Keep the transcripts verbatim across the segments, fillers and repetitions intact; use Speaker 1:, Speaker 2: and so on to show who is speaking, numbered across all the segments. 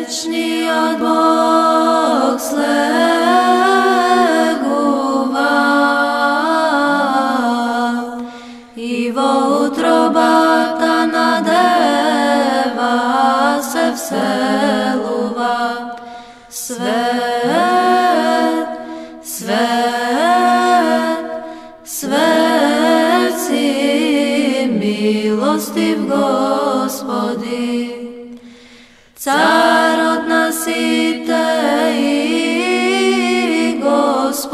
Speaker 1: Вечниот Бог слегува и во утробата на дева се вселува. Свет, свет, свет си, милостив Господи, Царот на сите и Господ.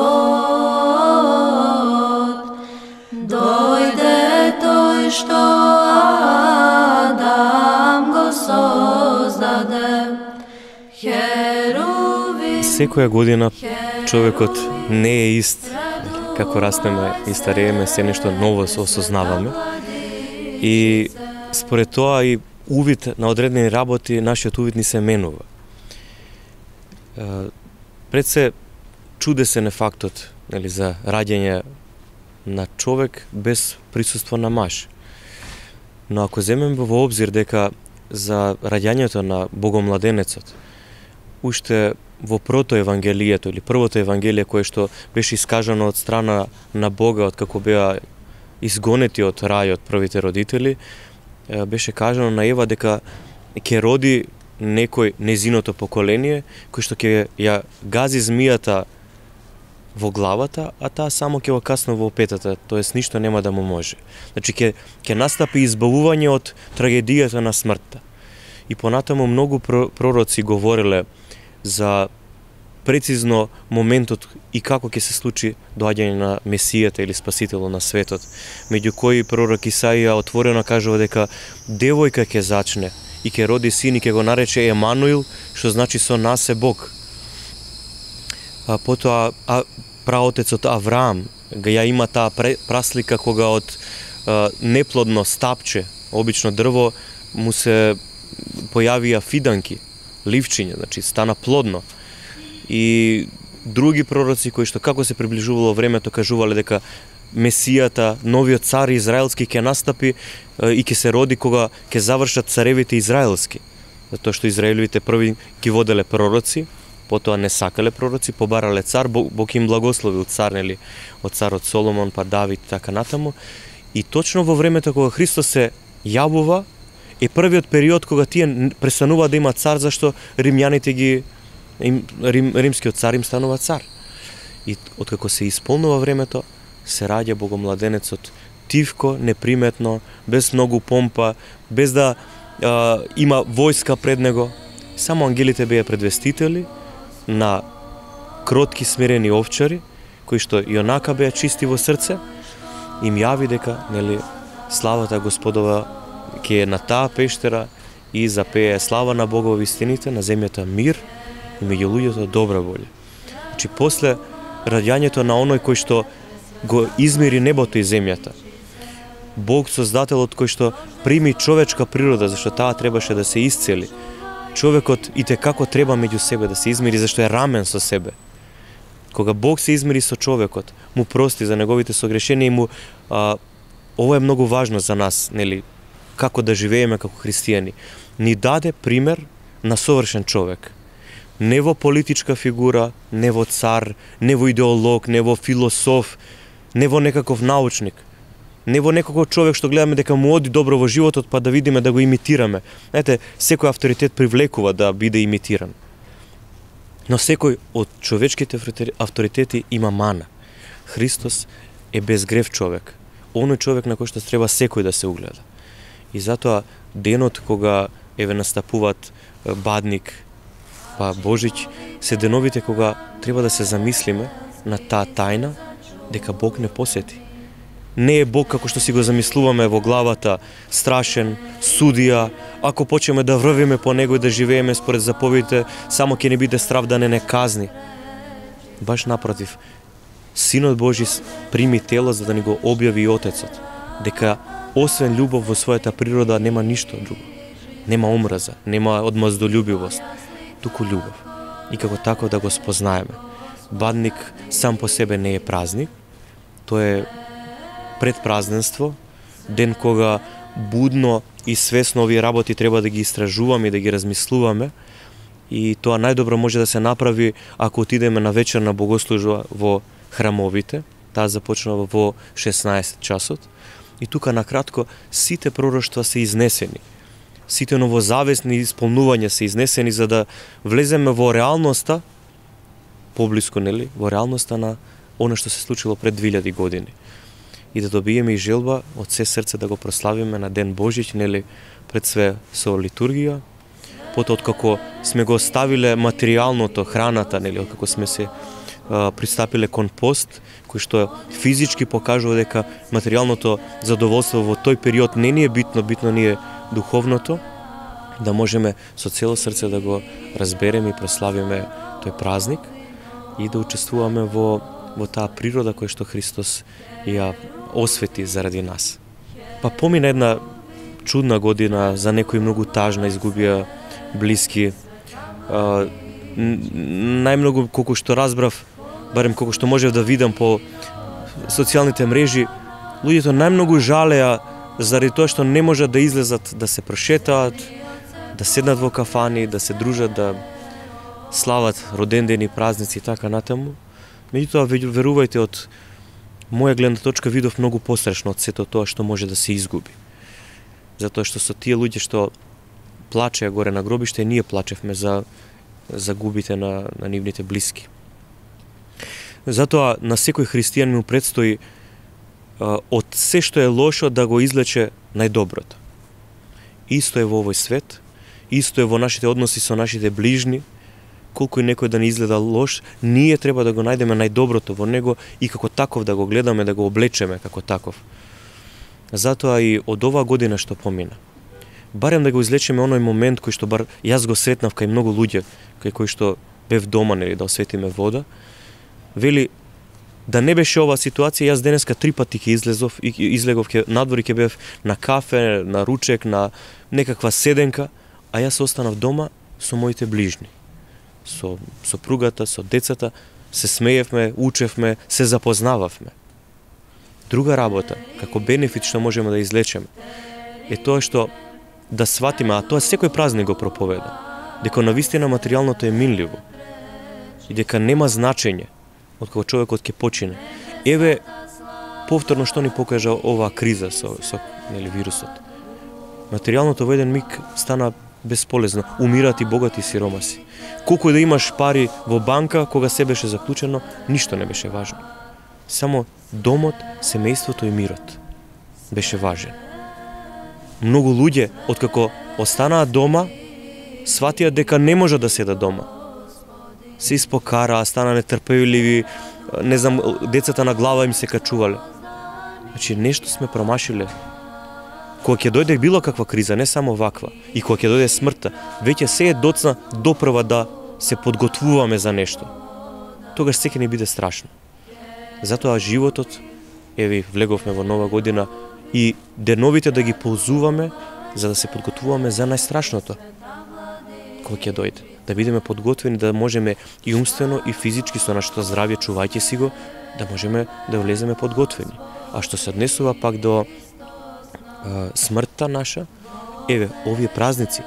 Speaker 1: Дојде тој што Адам го создаде. Херуви.
Speaker 2: Секоја година човекот не е ист. Како растеме и старееме, се нешто ново се осознаваме. И според тоа и увид на одредени работи, нашиот увид ни се менува. Пред се чудесен е фактот, нели, за раѓање на човек без присуство на маж. Но ако земеме во обзир дека за раѓањето на богомладенецот, уште во прото евангелието или првото евангелие кое што беше искажано од страна на Бога од како беа изгонети од рајот првите родители, беше кажано на Ева дека ќе роди некој незиното поколение кој што ќе ја гази змијата во главата, а таа само ќе го касна во петата, тоест ништо нема да му може. Значи ќе ќе настапи избавување од трагедијата на смртта. И понатаму многу пророци говореле за прецизно моментот и како ќе се случи доаѓање на Месијата или Спасителот на светот. Меѓу кои пророк Исаија отворено кажува дека девојка ќе зачне и ќе роди син и ќе го нарече Емануил, што значи со нас е Бог. А потоа а, праотецот Авраам ја има таа праслика кога од а, неплодно стапче, обично дрво, му се појавија фиданки, ливчиња, значи стана плодно. И други пророци кои што како се приближувало времето кажувале дека Месијата, новиот цар израелски ќе настапи и ќе се роди кога ќе завршат царевите израелски. Затоа што израелевите први ги воделе пророци, потоа не сакале пророци, побарале цар, Бог, Бог им благословил цар, нели, од царот Соломон, па Давид, така натаму. И точно во времето кога Христос се јавува, е првиот период кога тие престанува да има цар, зашто римјаните ги Рим, Рим, римскиот цар им станува цар. И откако се исполнува времето, се раѓа богомладенецот тивко, неприметно, без многу помпа, без да а, има војска пред него. Само ангелите беа предвестители на кротки смирени овчари, кои што и онака беа чисти во срце, им јави дека, нели, славата Господова ќе е на таа пештера и запее слава на Бога во вистините, на земјата мир и меѓу луѓето добра волја. Значи, после раѓањето на оној кој што го измери небото и земјата, Бог Создателот кој што прими човечка природа, зашто таа требаше да се исцели, човекот и те како треба меѓу себе да се измери, зашто е рамен со себе. Кога Бог се измери со човекот, му прости за неговите согрешенија и му а, ова е многу важно за нас, нели, како да живееме како христијани. Ни даде пример на совршен човек. Не во политичка фигура, не во цар, не во идеолог, не во философ, не во некаков научник, не во некаков човек што гледаме дека му оди добро во животот, па да видиме да го имитираме. Знаете, секој авторитет привлекува да биде имитиран. Но секој од човечките авторитети има мана. Христос е безгрев човек. Оној човек на кој што треба секој да се угледа. И затоа денот кога еве настапуваат Бадник, па Божиќ, се деновите кога треба да се замислиме на таа тајна дека Бог не посети. Не е Бог како што си го замислуваме во главата, страшен, судија, ако почнеме да врвиме по него и да живееме според заповедите, само ќе не биде страв да не не казни. Баш напротив, Синот Божи прими тело за да ни го објави и Отецот, дека освен љубов во својата природа нема ништо друго. Нема омраза, нема одмаздолюбивост, туку љубов. И како тако да го спознаеме. Бадник сам по себе не е празник, тоа е предпразненство, ден кога будно и свесно овие работи треба да ги истражуваме и да ги размислуваме и тоа најдобро може да се направи ако отидеме на вечерна богослужба во храмовите. Таа започнува во шеснаесет часот. И тука накратко сите пророштва се изнесени. Сите новозавесни исполнувања се изнесени за да влеземе во реалноста, поблиску, нели, во реалноста на она што се случило пред двилјади години. И да добиеме и желба од се срце да го прославиме на Ден Божич, нели, пред све со литургија. Потоа откако сме го ставиле материјалното, храната, нели, откако сме се а, пристапиле кон пост, кој што физички покажува дека материјалното задоволство во тој период не ни е битно, битно ни е духовното, да можеме со цело срце да го разбереме и прославиме тој празник и да учествуваме во, во таа природа која што Христос ја освети заради нас. Па помина една чудна година, за некои многу тажна, изгубија блиски. А, најмногу, колку што разбрав, барем колку што можев да видам по социјалните мрежи, луѓето најмногу жалеа заради тоа што не можат да излезат да се прошетаат, да седнат во кафани, да се дружат, да слават родендени, празници и така натаму. Меѓутоа, верувајте, од моја гледна точка видов многу пострашно од сето тоа што може да се изгуби. Затоа што со тие луѓе што плачеа горе на гробиште, ние плачевме за, за губите на, на нивните блиски. Затоа на секој христијан му предстои а, од се што е лошо да го излече најдоброто. Исто е во овој свет, исто е во нашите односи со нашите ближни. Колку и некој да не изгледа лош, ние треба да го најдеме најдоброто во него и како таков да го гледаме, да го облечеме како таков. Затоа и од оваа година што помина, барем да го излечеме оној момент кој што бар јас го сретнав кај многу луѓе, кај кои што бев дома, нели, да осветиме вода, вели, да не беше оваа ситуација, јас денеска три пати ќе излезов, и излегов ќе надвор и ќе бев на кафе, на ручек, на некаква седенка, а јас останав дома со моите ближни, со сопругата, со децата, се смеевме, учевме, се запознававме. Друга работа, како бенефит што можеме да излечеме, е тоа што да сватиме, а тоа секој празник го проповеда, дека навистина материјалното е минливо и дека нема значење откако човекот ќе почине. Еве, повторно што ни покажа оваа криза со, со нели, вирусот. Материјалното во еден миг стана бесполезно. Умираат и богати и сиромаси. Колку и да имаш пари во банка, кога се беше заклучено, ништо не беше важно. Само домот, семејството и мирот беше важен. Многу луѓе, откако останаа дома, сватија дека не можат да седат дома. Се испокараа, стана нетрпеливи, не знам, децата на глава им се качувале. Значи, нешто сме промашиле. Кога ќе дојде било каква криза, не само ваква, и кога ќе дојде смртта, веќе се е доцна допрва да се подготвуваме за нешто. Тогаш се ќе ни биде страшно. Затоа животот, еви, влеговме во нова година, и деновите да ги ползуваме за да се подготвуваме за најстрашното кога ќе дојде. Да бидеме подготвени, да можеме и умствено и физички со нашето здравје, чувајќи си го, да можеме да влеземе подготвени. А што се однесува пак до а, смртта наша, еве, овие празници,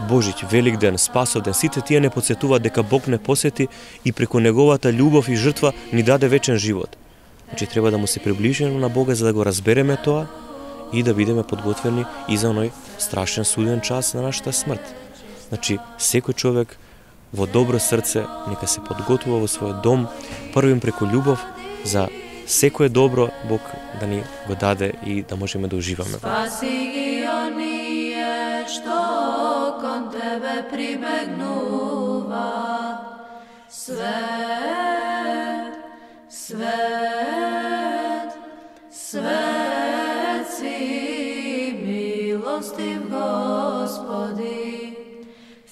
Speaker 2: Божич, Великден, Спасовден, сите тие не подсетуваат дека Бог не посети и преку неговата љубов и жртва ни даде вечен живот. Значи, треба да му се приближиме на Бога за да го разбереме тоа и да бидеме подготвени и за оној страшен суден час на нашата смрт. Значи, секој човек во добро срце нека се подготвува во својот дом, првим преку љубов за секое добро Бог да ни го даде и да можеме да уживаме.
Speaker 1: Спаси ги оние што кон тебе прибегнува. Свет, свет, свет си, милостив Господи.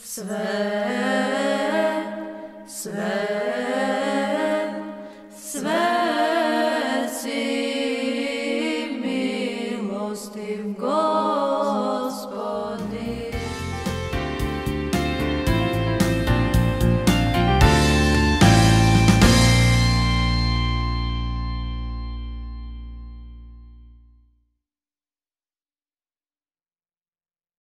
Speaker 1: Свет, свет, свет си, милостив Господи.